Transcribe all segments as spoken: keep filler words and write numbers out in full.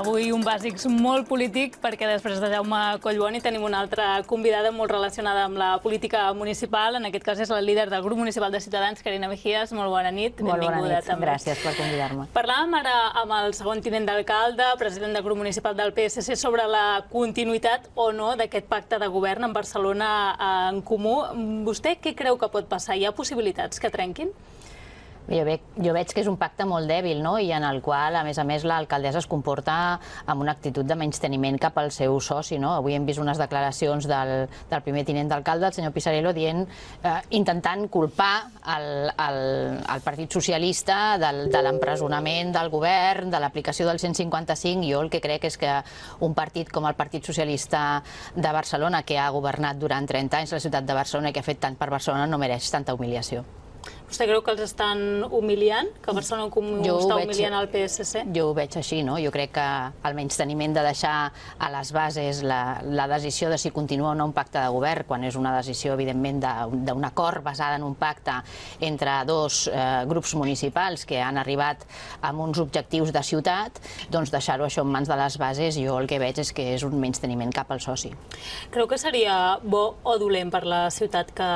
Avui un Bàsics molt polític, perquè després de Jaume Collboni tenim una altra convidada molt relacionada amb la política municipal. En aquest cas és la líder del grup municipal de Ciutadans, Carina Mejías. Molt bona nit. Molt bona nit, gràcies per convidar-me. Parlàvem ara amb el segon tinent d'alcalde, president del grup municipal del P S C, sobre la continuïtat o no d'aquest pacte de govern en Barcelona en Comú. Vostè què creu que pot passar? Hi ha possibilitats que trenquin? Jo veig, jo veig que és un pacte molt dèbil, no? I en el qual, a més a més, l'alcaldessa es comporta amb una actitud de menysteniment cap al seu soci, no? Avui hem vist unes declaracions del, del primer tinent d'alcalde, el senyor Pisarello, dient, eh, intentant culpar el, el, el Partit Socialista del, de l'empresonament del govern, de l'aplicació del cent cinquanta cinc. Jo el que crec és que un partit com el Partit Socialista de Barcelona, que ha governat durant trenta anys la ciutat de Barcelona i que ha fet tant per Barcelona, no mereix tanta humiliació. Vostè creu que els estan humiliant? Que Barcelona en Comú està humiliant el P S C? Jo ho veig així, no? Jo crec que el menysteniment de deixar a les bases la, la decisió de si continua o no un pacte de govern, quan és una decisió, evidentment, d'un acord basada en un pacte entre dos eh, grups municipals que han arribat amb uns objectius de ciutat, doncs deixar-ho això en mans de les bases, jo el que veig és que és un menysteniment cap al soci. Creu que seria bo o dolent per la ciutat que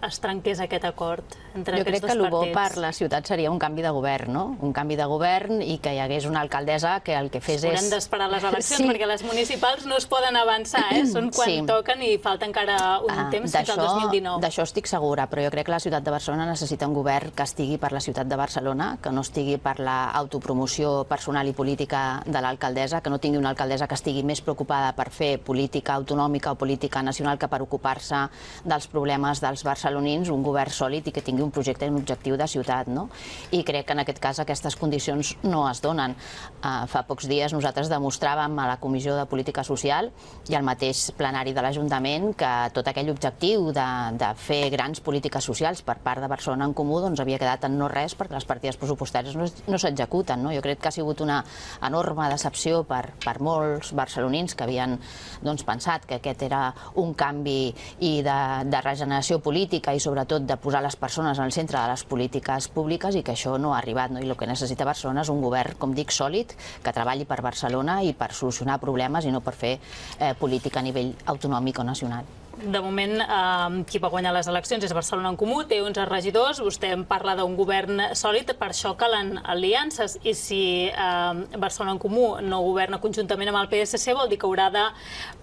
es trenqués aquest acord entre jo aquests dos partits? Jo crec que el bo per la ciutat seria un canvi de govern, no? Un canvi de govern i que hi hagués una alcaldessa que el que fes és... Haurem d'esperar les eleccions, sí. perquè les municipals no es poden avançar, eh? Són quan sí. toquen i falta encara un ah, temps fins al dos mil dinou. D'això estic segura, però jo crec que la ciutat de Barcelona necessita un govern que estigui per la ciutat de Barcelona, que no estigui per l'autopromoció personal i política de l'alcaldessa, que no tingui una alcaldessa que estigui més preocupada per fer política autonòmica o política nacional que per ocupar-se dels problemes dels barcelonins, un govern sòlid i que tingui un projecte i un objectiu de ciutat, no? I crec que en aquest cas aquestes condicions no es donen. Uh, fa pocs dies nosaltres demostràvem a la Comissió de Política Social i al mateix plenari de l'Ajuntament que tot aquell objectiu de, de fer grans polítiques socials per part de Barcelona en Comú doncs havia quedat en no res perquè les partides pressupostàries no, no s'executen, no? Jo crec que ha sigut una enorme decepció per, per molts barcelonins que havien doncs, pensat que aquest era un canvi i de, de regeneració política i sobretot de posar les persones al centre de les polítiques públiques i que això no ha arribat, no? I el que necessita Barcelona és un govern, com dic, sòlid, que treballi per Barcelona i per solucionar problemes i no per fer eh, política a nivell autonòmic o nacional. De moment, eh, qui va guanyar les eleccions és Barcelona en Comú, té onze regidors, vostè em parla d'un govern sòlid, per això calen aliances, i si eh, Barcelona en Comú no governa conjuntament amb el P S C vol dir que haurà de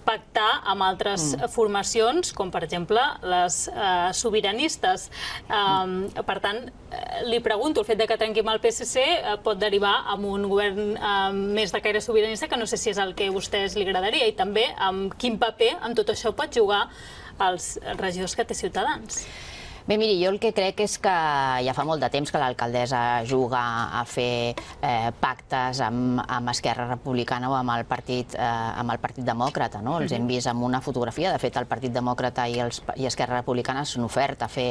pactar amb altres mm. formacions, com per exemple les eh, sobiranistes. Eh, per tant, eh, li pregunto, el fet de que trenqui amb el P S C eh, pot derivar en un govern eh, més de caire sobiranista, que no sé si és el que a vostès li agradaria, i també amb quin paper amb tot això pot jugar els regidors que té Ciutadans. Bé, miri, jo el que crec és que ja fa molt de temps que l'alcaldessa juga a fer eh, pactes amb, amb Esquerra Republicana o amb el Partit, eh, amb el Partit Demòcrata, no? Els hem vist amb una fotografia, de fet el Partit Demòcrata i, els, i Esquerra Republicana s'han ofert a fer,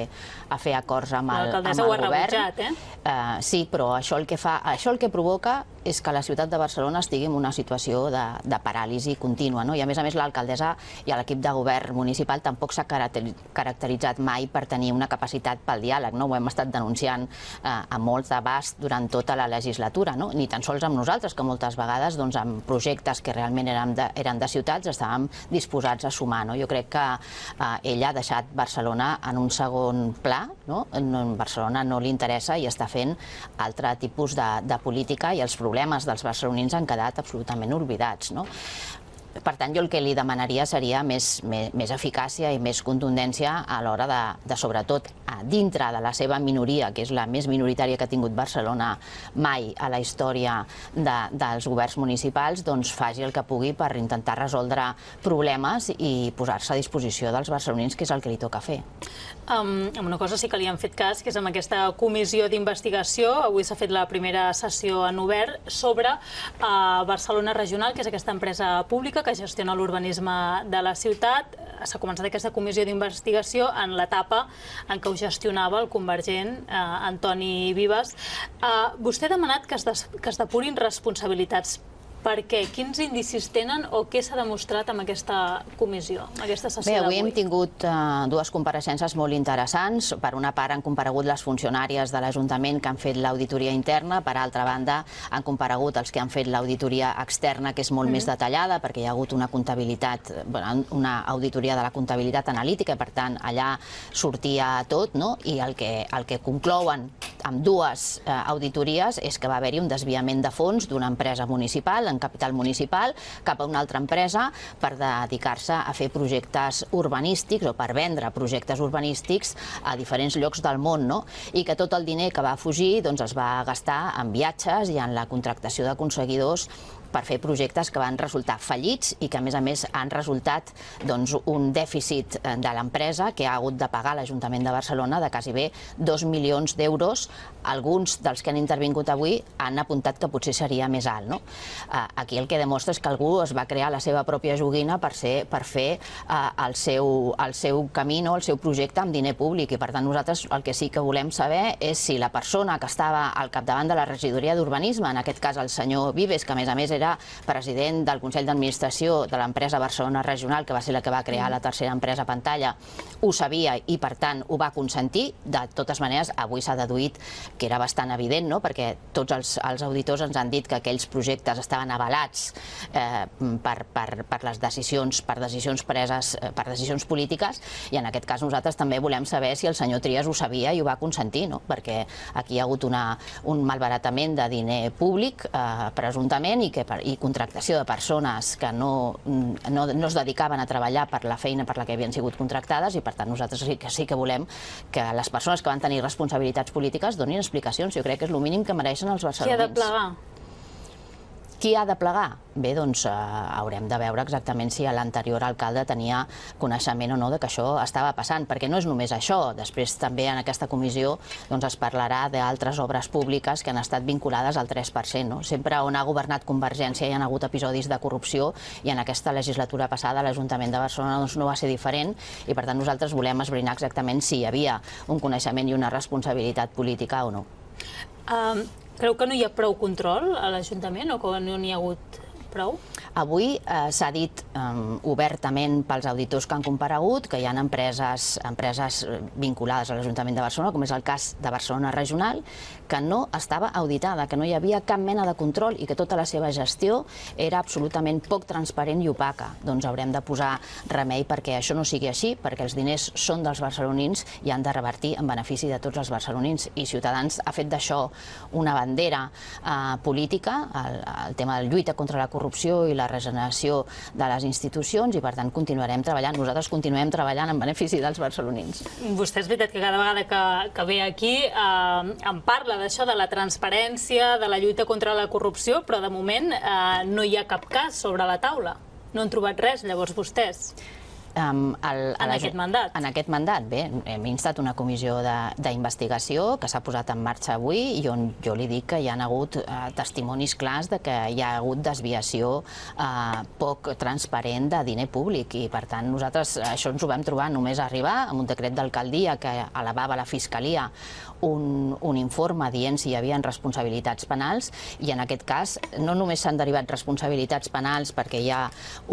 a fer acords amb el, amb el govern. L'alcaldessa ho ha rebutjat, eh? Uh, sí, però això el que fa, això el que provoca és que la ciutat de Barcelona estigui en una situació de, de paràlisi contínua, no? I a més a més l'alcaldessa i l'equip de govern municipal tampoc s'ha caracteritzat mai per tenir una capacitat pel diàleg, no? Ho hem estat denunciant eh, a molt d'abast durant tota la legislatura, no? Ni tan sols amb nosaltres, que moltes vegades doncs, amb projectes que realment eren de, eren de ciutats estàvem disposats a sumar, no? Jo crec que eh, ella ha deixat Barcelona en un segon pla, no? En Barcelona no li interessa i està fent altre tipus de, de política i els problemes dels barcelonins han quedat absolutament oblidats, no? Per tant, jo el que li demanaria seria més, més, més eficàcia i més contundència a l'hora de, de, sobretot, a dintre de la seva minoria, que és la més minoritària que ha tingut Barcelona mai a la història de, dels governs municipals, doncs faci el que pugui per intentar resoldre problemes i posar-se a disposició dels barcelonins, que és el que li toca fer. Um, amb una cosa sí que li han fet cas, que és amb aquesta comissió d'investigació. Avui s'ha fet la primera sessió en obert sobre uh, Barcelona Regional, que és aquesta empresa pública que gestiona l'urbanisme de la ciutat. S'ha començat aquesta comissió d'investigació en l'etapa en què ho gestionava el convergent eh, Antoni Vives. Eh, vostè ha demanat que es, des, que es depurin responsabilitats Per què? Quins indicis tenen o què s'ha demostrat amb aquesta comissió, amb aquesta sessió d'avui? Bé, avui hem tingut dues compareixences molt interessants. Per una part han comparegut les funcionàries de l'Ajuntament que han fet l'auditoria interna, per altra banda han comparegut els que han fet l'auditoria externa, que és molt més detallada, perquè hi ha hagut una comptabilitat, una auditoria de la comptabilitat analítica, i per tant allà sortia tot, no? I el que, el que conclouen amb dues eh, auditories és que va haver-hi un desviament de fons d'una empresa municipal, en capital municipal, cap a una altra empresa per dedicar-se a fer projectes urbanístics o per vendre projectes urbanístics a diferents llocs del món, no? I que tot el diner que va fugir doncs, es va gastar en viatges i en la contractació d'aconseguidors per fer projectes que van resultar fallits i que, a més a més, han resultat doncs, un dèficit de l'empresa que ha hagut de pagar l'Ajuntament de Barcelona de quasi bé dos milions d'euros. Alguns dels que han intervingut avui han apuntat que potser seria més alt, no? Aquí el que demostra és que algú es va crear la seva pròpia joguina per, ser, per fer el seu, el seu camí, no? El seu projecte amb diner públic, i per tant nosaltres el que sí que volem saber és si la persona que estava al capdavant de la regidoria d'Urbanisme, en aquest cas el senyor Vives, que a més a més era president del Consell d'Administració de l'empresa Barcelona Regional, que va ser la que va crear la tercera empresa Pantalla, ho sabia i, per tant, ho va consentir. De totes maneres, avui s'ha deduït que era bastant evident, no? Perquè tots els, els auditors ens han dit que aquells projectes estaven avalats eh, per, per, per les decisions, per decisions preses, eh, per decisions polítiques, i en aquest cas nosaltres també volem saber si el senyor Trias ho sabia i ho va consentir, no? Perquè aquí hi ha hagut una, un malbaratament de diner públic, eh, presumptament, i que i contractació de persones que no, no, no es dedicaven a treballar per la feina per la que havien sigut contractades, i per tant nosaltres sí que, sí que volem que les persones que van tenir responsabilitats polítiques donin explicacions. Jo crec que és el mínim que mereixen els barcelonins. Qui ha de plegar? Qui ha de plegar? Bé, doncs eh, haurem de veure exactament si l'anterior alcalde tenia coneixement o no de que això estava passant, perquè no és només això. Després també en aquesta comissió doncs, es parlarà d'altres obres públiques que han estat vinculades al tres per cent. No? Sempre on ha governat Convergència hi ha hagut episodis de corrupció, i en aquesta legislatura passada l'Ajuntament de Barcelona doncs, no va ser diferent, i per tant nosaltres volem esbrinar exactament si hi havia un coneixement i una responsabilitat política o no. Um... Creu que no hi ha prou control a l'Ajuntament o que no n'hi ha hagut prou? Avui eh, s'ha dit eh, obertament pels auditors que han comparegut que hi ha empreses, empreses vinculades a l'Ajuntament de Barcelona, com és el cas de Barcelona Regional, que no estava auditada, que no hi havia cap mena de control i que tota la seva gestió era absolutament poc transparent i opaca. Doncs haurem de posar remei perquè això no sigui així, perquè els diners són dels barcelonins i han de revertir en benefici de tots els barcelonins. I Ciutadans ha fet d'això una bandera eh, política, el, el tema de la lluita contra la corrupció i la regeneració de les institucions, i per tant continuarem treballant. Nosaltres continuem treballant en benefici dels barcelonins. Vostè és veritat que cada vegada que, que ve aquí eh, em parla d'això, de la transparència, de la lluita contra la corrupció, però de moment eh, no hi ha cap cas sobre la taula. No han trobat res, llavors, vostès. Um, el, en aquest mandat? En aquest mandat, bé, hem instat una comissió d'investigació que s'ha posat en marxa avui i on jo li dic que hi ha hagut uh, testimonis clars de que hi ha hagut desviació uh, poc transparent de diner públic, i per tant nosaltres això ens ho vam trobar només arribar amb un decret d'alcaldia que elevava la Fiscalia un, un informe dient si hi havia responsabilitats penals, i en aquest cas no només s'han derivat responsabilitats penals perquè hi ha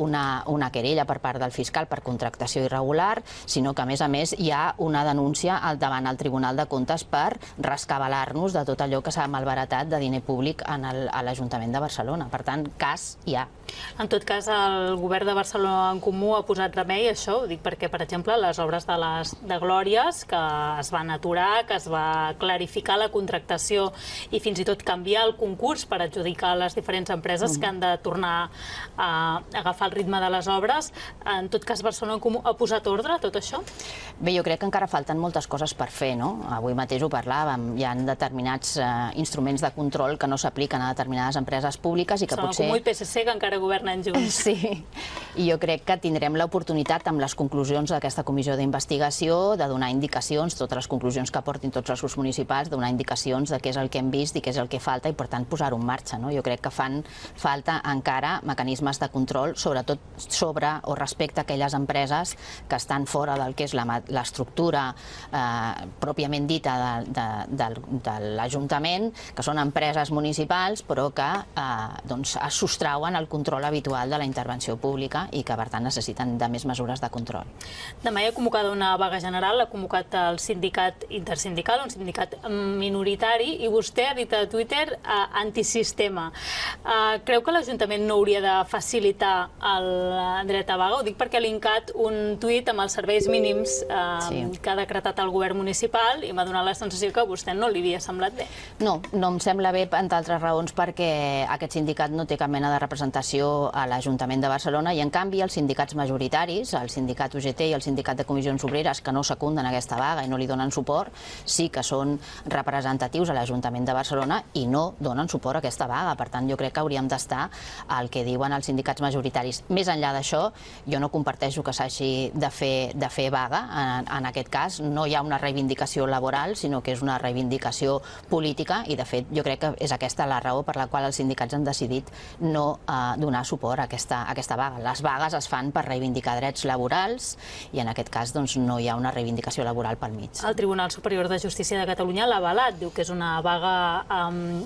una, una querella per part del fiscal per contractació irregular, sinó que a més a més hi ha una denúncia davant el Tribunal de Comptes per rescabalar-nos de tot allò que s'ha malbaratat de diner públic en el, a l'Ajuntament de Barcelona. Per tant, cas hi ha. En tot cas, el govern de Barcelona en Comú ha posat remei a això, ho dic perquè, per exemple, les obres de les de Glòries, que es van aturar, que es va clarificar la contractació i fins i tot canviar el concurs per adjudicar les diferents empreses que han de tornar a agafar el ritme de les obres. En tot cas, Barcelona en Comú ha posat ordre a tot això? Bé, jo crec que encara falten moltes coses per fer, no? Avui mateix ho parlàvem, hi ha determinats eh, instruments de control que no s'apliquen a determinades empreses públiques i que potser... Comú i P S C, que encara governen junts. Sí, i jo crec que tindrem l'oportunitat amb les conclusions d'aquesta comissió d'investigació de donar indicacions, totes les conclusions que aportin tots els grups municipals, donar indicacions de què és el que hem vist i què és el que falta i, per tant, posar-ho en marxa. Jo crec que fan falta encara mecanismes de control, sobretot sobre o respecte a aquelles empreses que estan fora del que és l'estructura pròpiament dita de l'Ajuntament, que són empreses municipals, però que es sostrauen al control habitual de la intervenció pública i que, per tant, necessiten de més mesures de control. Demà hi ha convocada una vaga general, l'ha convocat el sindicat intersindical, un sindicat minoritari, i vostè ha dit a Twitter antisistema. Creu que l'Ajuntament no hauria de facilitar el dret a vaga? Ho dic perquè ha linkat un tuit amb els serveis mínims que ha decretat el govern municipal i m'ha donat la sensació que a vostè no li havia semblat bé. No, no em sembla bé, entre altres raons, perquè aquest sindicat no té cap mena de representació a l'Ajuntament de Barcelona i, en canvi, els sindicats majoritaris, el sindicat U G T i el sindicat de comissions obreres, que no secunden aquesta vaga i no li donen suport, sí que són representatius a l'Ajuntament de Barcelona i no donen suport a aquesta vaga. Per tant, jo crec que hauríem d'estar al que diuen els sindicats majoritaris. Més enllà d'això, jo no comparteixo que s'hagi de fer vaga. En aquest cas, no hi ha una reivindicació laboral, sinó que és una reivindicació política i, de fet, jo crec que és aquesta la raó per la qual els sindicats han decidit no donar suport a aquesta vaga. Les vagues es fan per reivindicar drets laborals i, en aquest cas, no hi ha una reivindicació laboral pel mig. El Tribunal Superior de Justícia de Catalunya l'ha avalat, diu que és una vaga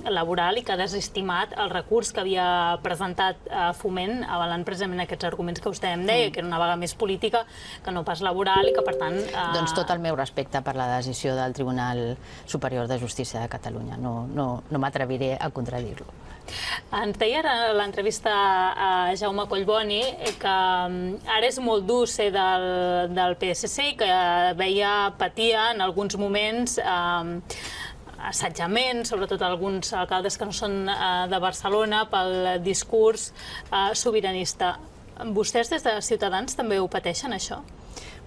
laboral i que ha desestimat el recurs que havia presentat Foment, avalant precisament aquests arguments que vostè em deia, que era una vaga més política que no pas laboral i que, per tant... Doncs tot el meu respecte per la decisió del Tribunal Superior de Justícia de Catalunya. No m'atreviré a contradir-lo. Ens deia a l'entrevista a Jaume Collboni que ara és molt dur ser del P S C i que veia, patia en alguns moments assetjament, sobretot alguns alcaldes que no són de Barcelona, pel discurs sobiranista. Vostès des de Ciutadans també ho pateixen, això?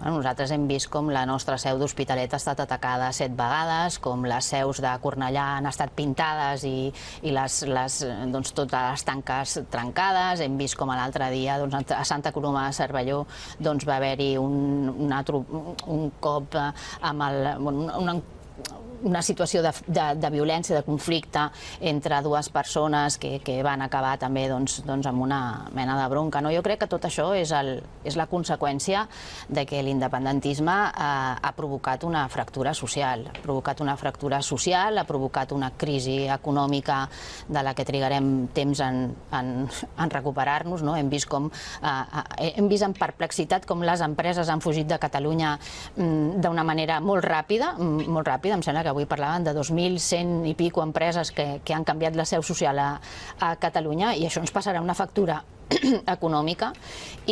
Nosaltres hem vist com la nostra seu d'Hospitalet ha estat atacada set vegades, com les seus de Cornellà han estat pintades i totes les tanques trencades. Hem vist com l'altre dia a Santa Coloma de Cervelló va haver-hi un cop amb una situació de violència, de conflicte entre dues persones que van acabar també amb una mena de bronca. Jo crec que tot això és la conseqüència que l'independentisme ha provocat una fractura social. Ha provocat una fractura social, ha provocat una crisi econòmica de la que trigarem temps en recuperar-nos. Hem vist amb perplexitat com les empreses han fugit de Catalunya d'una manera molt ràpida, molt ràpida, em sembla que avui parlaven de dos mil cent i pico empreses que han canviat la seu social a Catalunya i això ens passarà una factura econòmica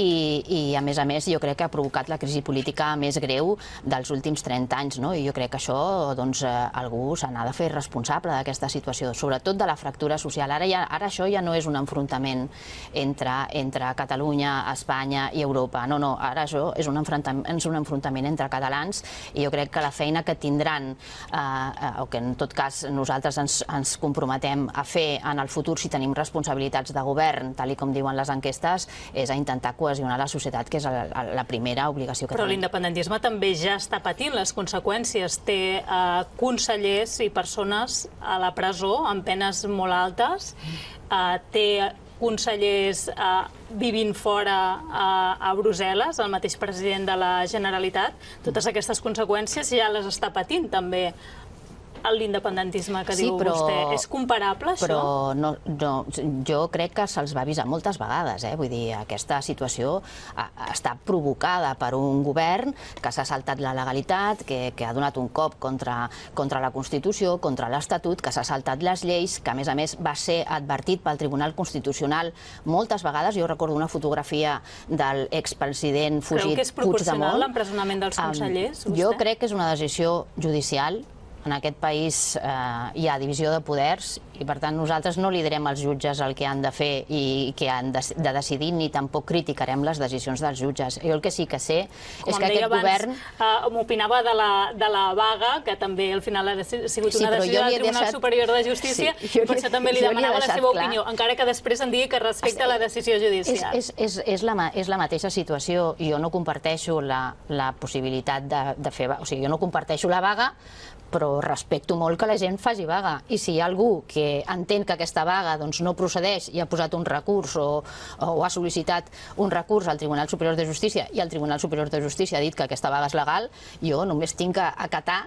i, a més a més, jo crec que ha provocat la crisi política més greu dels últims trenta anys, i jo crec que això algú se n'ha de fer responsable d'aquesta situació, sobretot de la fractura social. Ara això ja no és un enfrontament entre Catalunya, Espanya i Europa, no, no, ara això és un enfrontament entre catalans i jo crec que la feina que tindran, o que en tot cas nosaltres ens comprometem a fer en el futur si tenim responsabilitats de govern, tal com diuen les enquestes, és a intentar cohesionar la societat, que és la primera obligació que tenim. Però l'independentisme també ja està patint les conseqüències. Té consellers i persones a la presó amb penes molt altes, té consellers vivint fora a Brussel·les, el mateix president de la Generalitat. Totes aquestes conseqüències ja les està patint també l'independentisme que diu vostè. És comparable, això? Però jo crec que se'ls va avisar moltes vegades. Vull dir, aquesta situació està provocada per un govern que s'ha saltat la legalitat, que ha donat un cop contra la Constitució, contra l'Estatut, que s'ha saltat les lleis, que a més a més va ser advertit pel Tribunal Constitucional moltes vegades. Jo recordo una fotografia de l'expresident fugit Puigdemont. Creu que és proporcional l'empresonament dels consellers? Jo crec que és una decisió judicial en aquest país hi ha divisió de poders i, per tant, nosaltres no li direm als jutges el que han de fer i què han de decidir, ni tampoc criticarem les decisions dels jutges. Jo el que sí que sé és que aquest govern... M'opinava de la vaga, que també al final ha sigut una decisió del Tribunal Superior de Justícia, i per això també li demanava la seva opinió, encara que després em digui que respecta la decisió judicial. És la mateixa situació. Jo no comparteixo la possibilitat de fer... O sigui, jo no comparteixo la vaga, però respecto molt que la gent faci vaga. I si hi ha algú que entén que aquesta vaga no procedeix i ha posat un recurs o ha sol·licitat un recurs al Tribunal Superior de Justícia i el Tribunal Superior de Justícia ha dit que aquesta vaga és legal, jo només tinc que acatar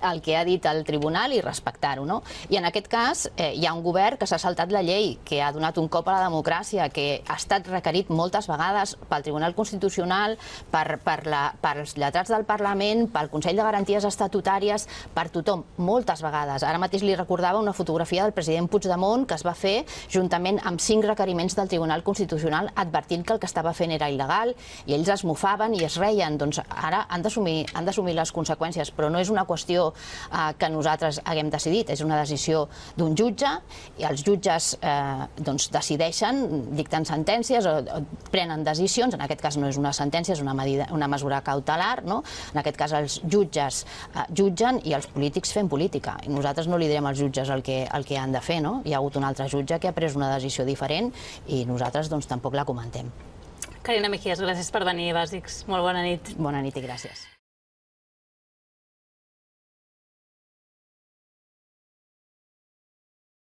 el que ha dit el tribunal i respectar-ho. I en aquest cas hi ha un govern que s'ha saltat la llei, que ha donat un cop a la democràcia, que ha estat requerit moltes vegades pel Tribunal Constitucional, pels lletrats del Parlament, pel Consell de Garanties Estatutàries, per tothom, moltes vegades. Ara mateix li recordava una fotografia del president Puigdemont que es va fer juntament amb cinc requeriments del Tribunal Constitucional advertint que el que estava fent era il·legal i ells es mofaven i es reien. Doncs ara han d'assumir les conseqüències, però no és una qüestió que nosaltres haguem decidit, és una decisió d'un jutge i els jutges decideixen, dicten sentències o prenen decisions, en aquest cas no és una sentència, és una mesura cautelar, en aquest cas els jutges jutgen i els polítics fent política. I nosaltres no li direm als jutges el que han de fer. Hi ha hagut un altre jutge que ha pres una decisió diferent i nosaltres tampoc la comentem. Carina Mejías, gràcies per venir, Bàsics. Molt bona nit. Bona nit i gràcies.